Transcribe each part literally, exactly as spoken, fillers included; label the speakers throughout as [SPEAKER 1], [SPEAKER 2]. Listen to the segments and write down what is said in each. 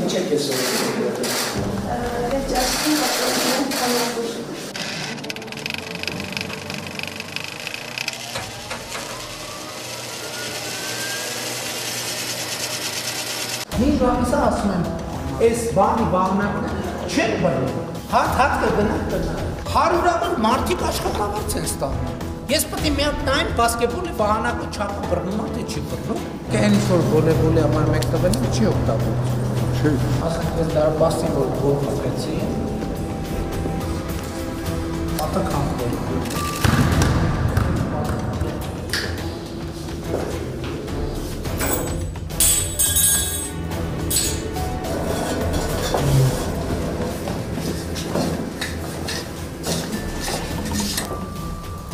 [SPEAKER 1] Ինչ է քեզ սովորել։
[SPEAKER 2] Վերջացնում պատասխանում քանակուշ։
[SPEAKER 1] Հին ժամանակ ասում եմ, այս բանի բանակը չեն բռնում։ Հատ-հատ կգնա կնա։ Հարյուրավոր մարդիկ աշխատավարձ են ստանում։ Ես պետք է մի հատ նայեմ բասկետբոլի բանակը չափը բռնում է թե չի բռնում։ Կենից որ վոլեյբոլի համար մեկ տվել եմ չի օգտագործում։ Չի։ Ասենք ես դա բասկետբոլ գոլ մտեցի։ Ատական գոլ։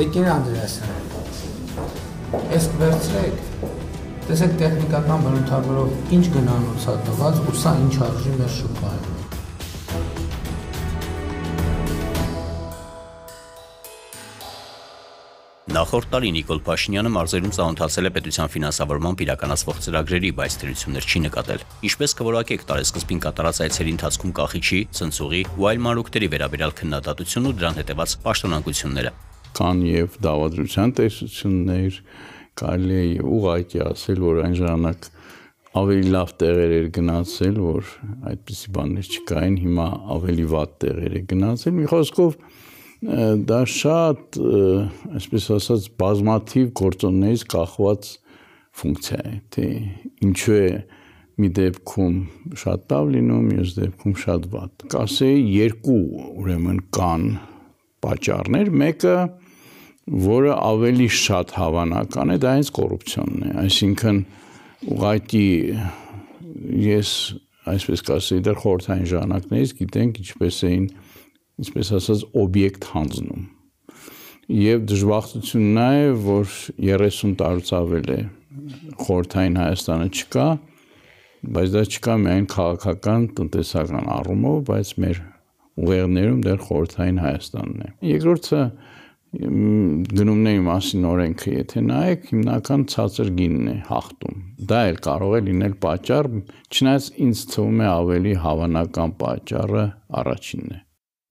[SPEAKER 1] Տեկին Անդրեասյան, ես վերցրեք, տեսեք տեխնիկական բնութագրով ինչ գնանոց է տված ու սա ինչ արժի մեր շուկայում։
[SPEAKER 3] Նախորդ տարի Նիկոլ Փաշինյանը մարզերում ծանոթացել է պետության ֆինանսավորմամբ իրականացվող ծրագրերի, բայց դրություններ չի նկատել։ Ինչպես կորակեք տարեսկզբին կատարած այցերի ընթացքում կախիչի, ցնցուղի ու այլ մանրուքների վերաբերյալ քննադատությունն ու դրան հետևած պաշտոնանկությունները։
[SPEAKER 4] Կան եւ դավադրության տեսություններ, կարելի է ուղղակի ասել, որ այն ժամանակ ավելի լավ տեղեր էր գնացել, որ այդպիսի բաներ չկային, հիմա ավելի վատ տեղեր է գնացել։ Մի խոսքով դա շատ, այսպես ասած, բազմաթիվ գործոններից կախված ֆունկցիա է, թե ինչու է մի դեպքում շատ լավ լինում, մյուս դեպքում շատ վատ։ Կասեի երկու ուրեմն կան պատճառներ, մեկը, որը ավելի շատ հավանական է, դա հենց կոռուպցիոնն է, այսինքն ուղղակի ես այսպես կասեի դեռ խորհրդային ժամանակներից գիտենք ինչպես էին ինչպես ասած օբյեկտ հանձնում եւ դժբախտությունն նա է որ երեսուն տարուց ավել է խորհրդային Հայաստանը չկա բայց դա չկա միայն քաղաքական տնտեսական առումով բայց մեր ուղեղներում դեռ խորհրդային Հայաստանն է երկրորդը գնումների մասին օրենքը եթե նայեք հիմնական ցածր գինն է հաղթում դա էլ կարող է լինել պատճառ չնայած ինձ թվում է ավելի հավանական պատճառը առաջինն է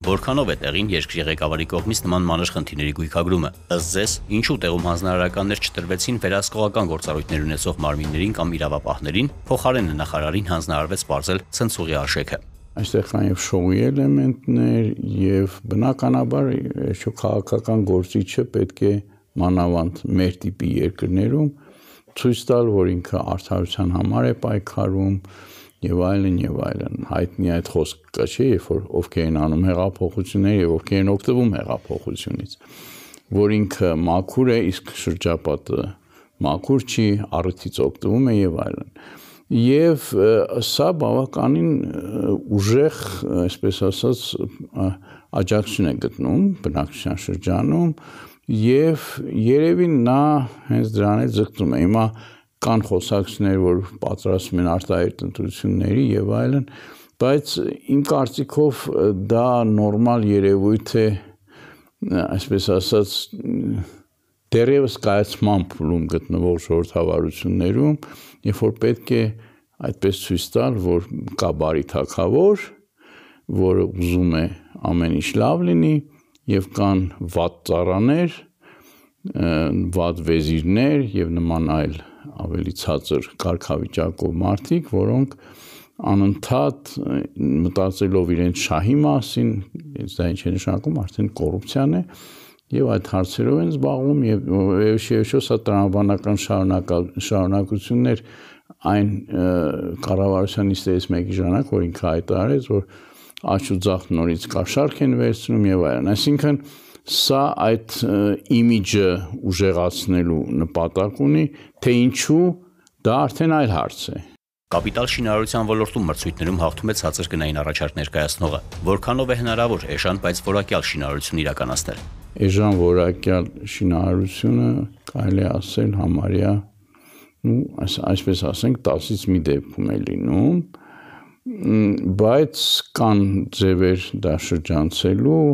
[SPEAKER 3] Որքանով է տեղին երկրի ղեկավարի կողմից նման մանր խնդիրների գույքագրումը, ըստ ձեզ, ինչու տեղում հանձնարարականներ չտրվեցին վերահսկողական գործառույթներ ունեցող մարմիններին կամ իրավապահներին, փոխարենը նախարարին հանձնարարվեց պարզել ցնցուղի արժեքը։
[SPEAKER 4] Այստեղ կան եւ շոուի էլեմենտներ եւ բնականաբար այո քաղաքական գործիչը պետք է մանավանդ մեր տիպի երկրներում ցույց տալ, որ ինքը արդարության համար է պայքարում եւ այլն եւ այլն հայտնի այդ խոսքը չէ երբ որ ովքեր են անում հեղափոխություններ եւ ովքեր են օգտվում հեղափոխությունից որ ինքը մաքուր է իսկ շրջապատը մաքուր չի առիթից օգտվում է եւ այլն եւ սա բավականին ուժեղ այսպես ասած աջակցություն է գտնում բնակչության շրջանում եւ երևի նա հենց դրան է ձգտում է հիմա կան խոսակցություններ, որ պատրաստում են արտահայտ ընտրությունների եւ այլն, բայց իմ կարծիքով դա նորմալ երևույթ է, այսպես ասած, դեռևս կայացման փուլում գտնվող ժողովրդավարություններում, երբ որ պետք է այդպես ցույց տալ, որ կա բարի թագավոր, որը ուզում է ամեն ինչ լավ լինի եւ կան վատ ծառաներ, վատ վեզիրներ եւ նման այլ ավելի ցածր կարգավիճակով մարդիկ, որոնք անընդհատ մտածելով իրենց շահի մասին, դա ինչ է նշանակում, արդեն կոռուպցիան է, եւ այդ հարցերով են զբաղվում եւ եւս սա տրամաբանական շարունակություններ այն կառավարության նիստերից մեկի ժամանակ, որ ինքը հայտարարեց, որ աճ ու ձախ նորից կաշառք են վերցնում եւ այլն, այսինքն սա այդ իմիջը ուժեղացնելու նպատակ ունի, թե ինչու դա արդեն այլ հարց է։
[SPEAKER 3] Կապիտալ շինարարության ոլորտում մրցույթներում հաղթում է ցածր գնային առաջարկ ներկայացնողը, որքանով է հնարավոր էժան, բայց որակյալ շինարարություն իրականացնել։
[SPEAKER 4] Էժան որակյալ շինարարությունը կարելի է ասել համարյա, ну, այսպես ասենք, տասից մի դեպքում է լինում, բայց կան ձևեր դա շրջանցելու,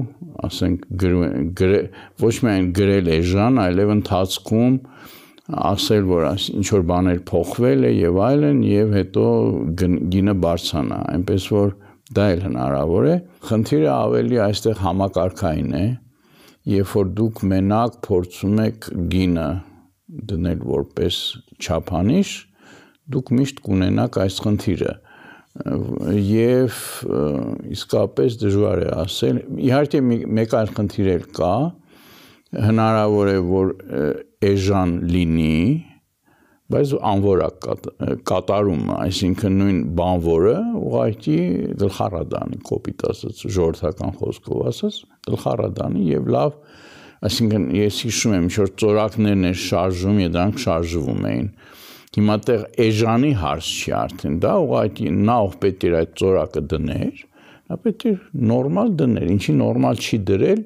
[SPEAKER 4] ասենք, ոչ միայն գրել էժան, այլև ընթացքում ասել, որ ինչ որ բաներ փոխվել է եւ այլն եւ հետո գինը բարձրանա, այնպես որ դա էլ հնարավոր է։ Խնդիրը ավելի այստեղ համակարգային է, երբ որ դուք մենակ փորձում եք գինը դնել որպես չափանիշ, դուք միշտ կունենաք այս խնդիրը եւ իսկապես դժվար է ասել։ Իհարկե մեկ այլ խնդիր էլ կա, հնարավոր է որ էժան լինի, բայց անվորակ կատարում, այսինքն նույն բանվորը ուղղակի գլխառադանի, կոպիտ ասած, ժողովրդական խոսքով ասած, գլխառադանի եւ լավ, այսինքն ես հիշում եմ, ինչ որ ծորակներն են շարժում, եւ դրանք շարժվում էին։ Հիմա տեղ էժանի հարց չի արդեն, դա ուղղակի նա ով պետք էր այդ ծորակը դներ, նա պետք է նորմալ դներ, ինչի նորմալ չի դրել,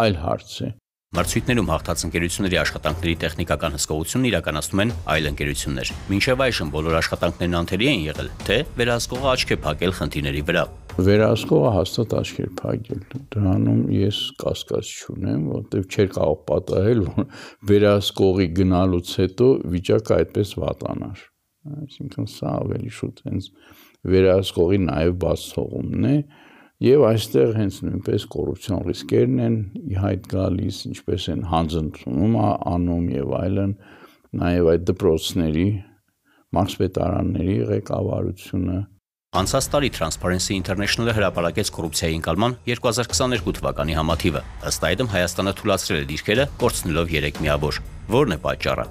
[SPEAKER 4] այլ հարց է։
[SPEAKER 3] Մրցույթներում հաղթած ընկերությունների աշխատանքների տեխնիկական հսկողությունն իրականացնում են այլ ընկերություններ։ Մինչև այժմ բոլոր աշխատանքներն անթերի են եղել, թե վերահսկողը աչք է փակել խնդիրների վրա։
[SPEAKER 4] Վերահսկողը հաստատ աչք էր փակել։ Դրանում ես կասկած չունեմ, որովհետև չէր կարող պատահել, որ վերահսկողի գնալուց հետո վիճակը այդպես վատանար։ Այսինքն սա ավելի շուտ հենց վերահսկողի նաև բաց թողումն է։ Եվ այստեղ հենց նույնպես կոռուպցիոն ռիսկերն են ի հայտ գալիս, ինչպես են հանձնցում անում եւ այլն, նաեւ այդ դպրոցների, մարզպետարանների ղեկավարությունը։
[SPEAKER 3] Անցած տարի Transparency International-ը հրապարակեց կոռուպցիայի ընկալման երկու հազար քսաներկու թվականի համաթիվը։ Ըստ այդմ Հայաստանը թույլատրել է դիրքերը, կորցնելով երեք միավոր։ Որն է պատճառը։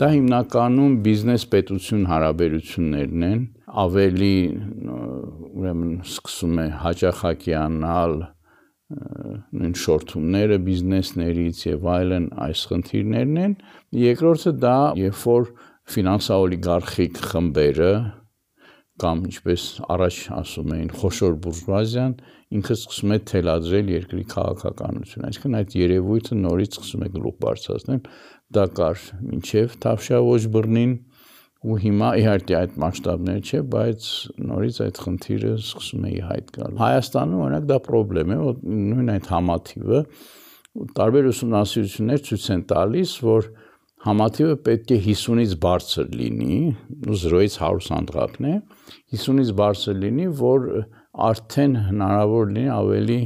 [SPEAKER 4] Դա հիմնականում բիզնես պետություն հարաբերություններն են, ավելի ուրեմն սկսում է հաճախակյանալ նույն շորթումները բիզնեսներից եւ այլն այս խնդիրներն են։ Երկրորդը դա երբ որ ֆինանսաօլիգարխիկ խմբերը կամ ինչպես առաջ ասում էին խոշոր բուրժուազիան ինքը սկսում է թելադրել երկրի քաղաքականությունը, այսինքն այդ երևույթը նորից սկսում է գլուխ բարձրացնել, դա կար մինչև Թավշյա բռնին ու հիմա իհարկե այդ մասշտաբներ չէ, բայց նորից այդ խնդիրը սկսում է ի հայտ գալ։ Հայաստանում օրինակ դա խնդրեմ է, որ նույն այդ համաթիվը տարբեր ուսումնասիրություններ ցույց են տալիս, որ համաթիվը պետք է հիսունից բարձր լինի, ու զրոյից հարյուր սանդղակն է, հիսունից բարձր լինի, որ արդեն հնարավոր լինի ավելի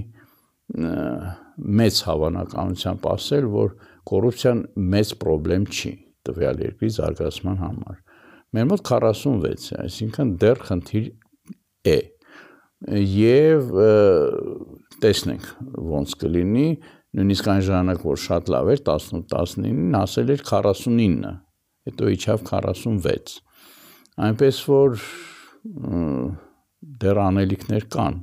[SPEAKER 4] մեծ հավանականությամբ ասել, որ կոռուպցիան մեծ խնդրեմ չի տվյալ երկրի զարգացման համար։ Մեր մոտ քառասունվեց է, այսինքն դեռ խնդիր է։ Եվ տեսնենք ոնց կլինի, նույնիսկ այն ժամանակ, որ շատ լավ էր տասնութ տասնինին, ասել էր քառասունինը, հետո իջավ քառասունվեց։ Այնպես որ դեռ անելիքներ կան։